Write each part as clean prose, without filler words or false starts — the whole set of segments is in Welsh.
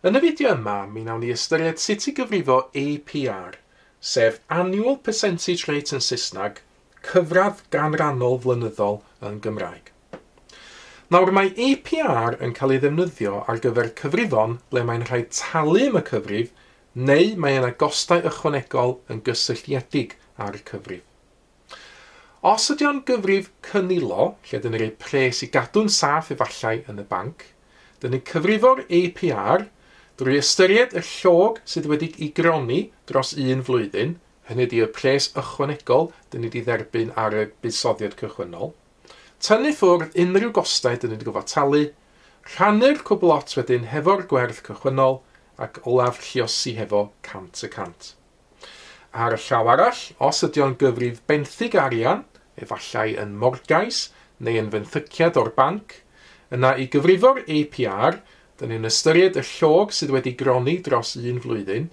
Yn y fideo yma, mi wnawn ni ystyried sut i gyfrifo APR, sef Annual Percentage Rate yn Saesneg, cyfradd ganrannol flynyddol yn Gymraeg. Nawr, mae APR yn cael ei ddefnyddio ar gyfer cyfrifon ble mae'n rhaid talu am y cyfrif neu mae yna gostau ychwanegol yn gysylltiedig â'r cyfrif. Os ydy o'n gyfrif cynilo, lle dyn ni'n rhoi pres i gadw'n saff efallai yn y banc, dyn ni'n cyfrifo'r APR drwy ystyried y llog sydd wedi ei gronni dros un flwyddyn, hynny ydy y pres ychwanegol dyn ni wedi dderbyn ar y buddsoddiad cychwynnol, tynnu ffwrdd unrhyw gostau dyn ni wedi gofod talu, rhannu'r cwbl lot wedyn hefo'r gwerth cychwynnol ac olaf lluosi hefo 100%. Ar y llaw arall, os ydy o'n gyfrif benthyg arian, efallai yn morgais neu yn fenthyciad o'r banc, yna i gyfrifo'r APR, dyn ni'n ystyried y llog sydd wedi gronni dros un flwyddyn,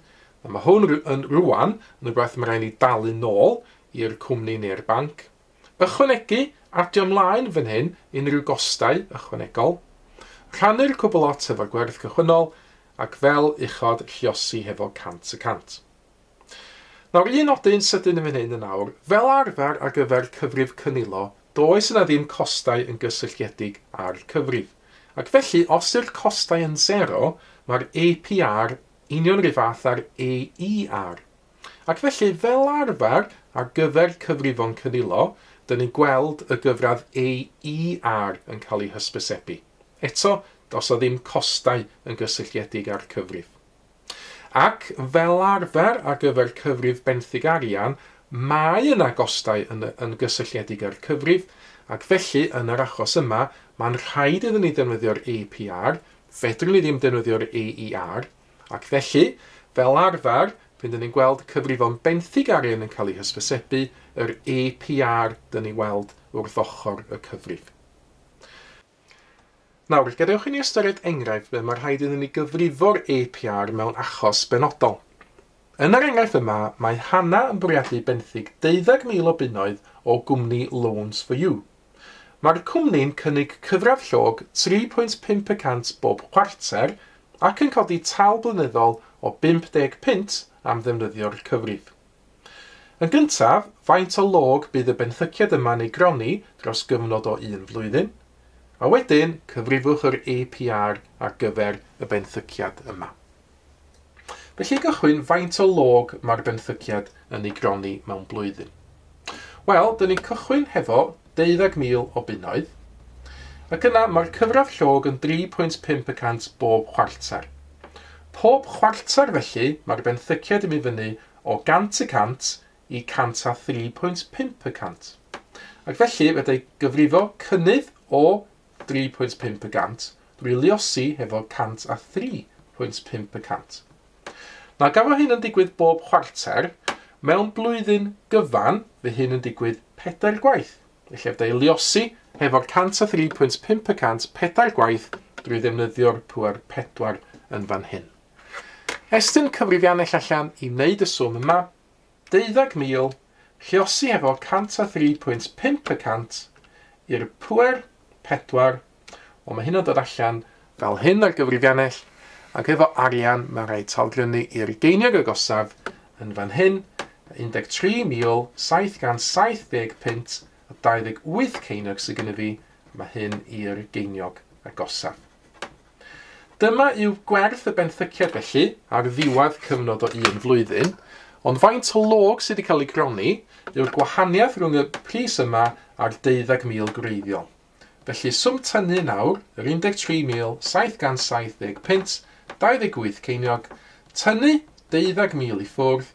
a mae hwn yn rwan yn rhywbeth mae rhaid ni dalu nôl i'r cwmni neu'r banc. Ychwanegu, adio ymlaen fan hyn unrhyw gostau ychwanegol, rhannu'r cwbl lot efo'r gwerth cychwynnol, ac fel uchod lluosi hefo 100%. Nawr, un nodyn sydyn yn fan hyn yn awr, fel arfer ar gyfer cyfrif cynilo, does yna ddim costau yn gysylltiedig â'r cyfrif. Ac felly, os yw'r costau yn 0, mae'r APR union rhyw fath â'r AER. Ac felly, fel arfer, ar gyfer cyfrifon cynilo, dyn ni'n gweld y gyfradd AER yn cael ei hysbysebu. Eto, does o ddim costau yn gysylltiedig â'r cyfrif. Ac fel arfer ar gyfer cyfrif benthyg arian, mae yna gostau yn gysylltiedig â'r cyfrif, ac felly yn yr achos yma, mae'n rhaid iddyn ni ddefnyddio'r APR, fedrwn ni ddim defnyddio'r AER, ac felly, fel arfer, pryd dyn ni'n gweld cyfrifon benthyg arian yn cael ei hysbysebu, yr APR dyn ni weld wrth ochr y cyfrif. Nawr, gadewch i ni ystyried enghraifft ble mae rhaid iddyn ni gyfrifo'r APR mewn achos benodol. Yn yr enghraifft yma, mae Hannah yn bwriadu benthyg 12,000 o bunnoedd o gwmni Loans for You. Mae'r cwmni'n cynnig cyfradd llog 3.5% bob chwarter ac yn codi tal blynyddol o 50 punt am ddefnyddio'r cyfrif. Yn gyntaf, faint o log bydd y benthyciad yma'n ei gronni dros gyfnod o un flwyddyn? A wedyn, cyfrifwch yr APR ar gyfer y benthyciad yma. Felly, i gychwyn, faint o log mae'r benthyciad yn ei gronni mewn blwyddyn? Wel, dyn ni'n cychwyn hefo 12,000 o bunnoedd, ac yna mae'r cyfradd llog yn 3.5% bob chwarter. Pob chwarter, felly, mae'r benthyciad yn mynd fyny o 100% i 103.5%. Ac felly, fedra i gyfrifo cynnydd o 3.5% drwy luosi hefo 103.5%. Nawr, gan fod hyn yn digwydd bob chwarter, mewn blwyddyn gyfan, fydd hyn yn digwydd 4 gwaith. Felly, fedra i luosi hefo'r 103.5% 4 gwaith drwy ddefnyddio'r pŵer 4 yn fan hyn. Estyn cyfrifiannell allan i wneud y swm yma, 12,000, lluosi hefo 103.5% i'r pŵer 4, wel mae hyn yn dod allan fel hyn ar gyfrifiannell, ac efo arian mae'n rhaid talgrynu i'r geiniog agosaf yn fan hyn, 13,770 punt a 28 ceiniog sydd gennym fi, mae hyn i'r geiniog agosaf. Dyma yw gwerth y benthyciad felly ar ddiwedd cyfnod o un flwyddyn, ond faint o log sydd wedi cael ei gronni yw'r gwahaniaeth rhwng y pris yma a'r 12,000 gwreiddiol. Felly, swm tynnu nawr, yr 13,770 punt, 28 ceiniog, tynnu 12,000 i ffwrdd,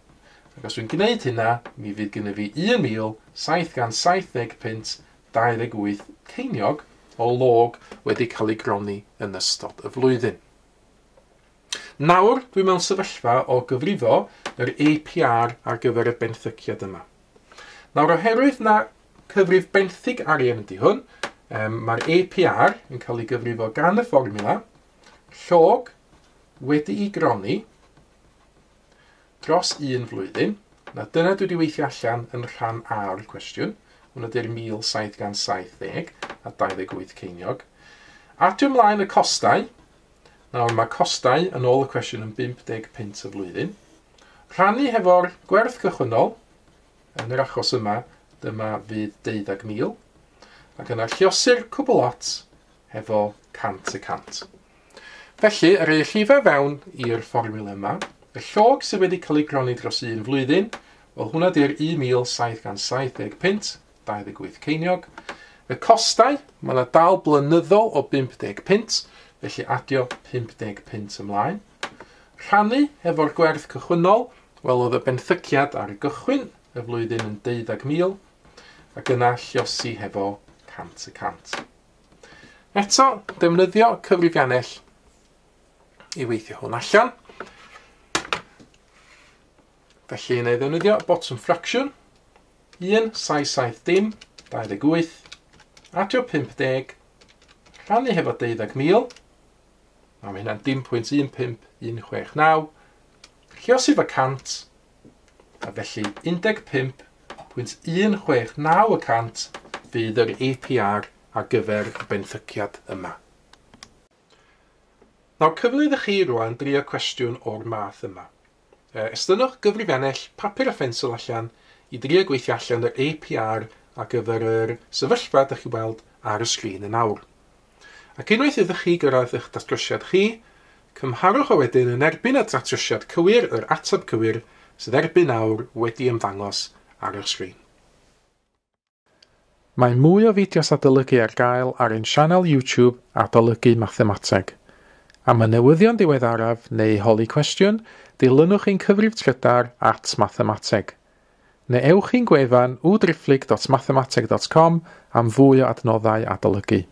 ac os dwi'n gwneud hynna, mi fydd gennyf fi 1,770 punt, 28 ceiniog o log wedi cael ei gronni yn ystod y flwyddyn. Nawr, dwi mewn sefyllfa o gyfrifo yr APR ar gyfer y benthyciad yma. Nawr, oherwydd na cyfrif benthyg arian ydy hwn, mae'r APR yn cael ei gyfrifo gan y fformiwla llog wedi'i gronni dros un flwyddyn. Na dyna dwi wedi weithio allan yn rhan A o'r cwestiwn. Hwnnw ydy'r 1,770 a 28 ceiniog. Adio ymlaen y costau, Nawr mae costau yn ôl y cwestiwn yn 50 punt y flwyddyn. Rhannu hefo'r gwerth cychwynnol, yn yr achos yma, dyma fydd 12,000, ac yna lluosi'r cwbl lot hefo 100%. Felly, yr ei rhifau fewn i'r fformiwla yma, y llog sydd wedi cael ei gronni dros un flwyddyn, wel hwnna di'r 1,770 punt, 28 ceiniog. Y costau, mae yna dal blynyddol o 50 punt, felly adio 50 punt ymlaen. Rhannu hefo'r gwerth cychwynnol, wel oedd y benthyciad ar y gychwyn y flwyddyn yn 12,000, ac yna lluosi hefo 100%. Eto, defnyddio cyfrifiannell i weithio hwn allan. Felly, wna i ddefnyddio bottom fraction, 1, 7, 7, dim, 28, adio 50, rhannu hefo 12,000, a mae hynna'n 0.15169, lluosi efo 100, a felly 15.169% fydd yr APR ar gyfer y benthyciad yma. Nawr, cyfle iddo chi rwan drio cwestiwn o'r math yma. Estynnwch gyfrifiannell papur a phensel allan i drio gweithio allan yr APR ar gyfer yr sefyllfa ydych chi weld ar y sgrin yn awr. Ac unwaith ydych chi gyrraedd eich datrysiad chi, cymharwch o wedyn yn erbyn y datrysiad cywir, yr ateb cywir, sydd erbyn awr wedi ymddangos ar eich sgrin. Mae mwy o fideos adolygu ar gael ar ein sianel YouTube Adolygu Mathemateg. Am y newyddion diweddaraf neu holi cwestiwn, dilynwch ein cyfrif trydar @mathemateg. Neu ewch i'n gwefan www.mathemateg.com am fwy o adnoddau adolygu.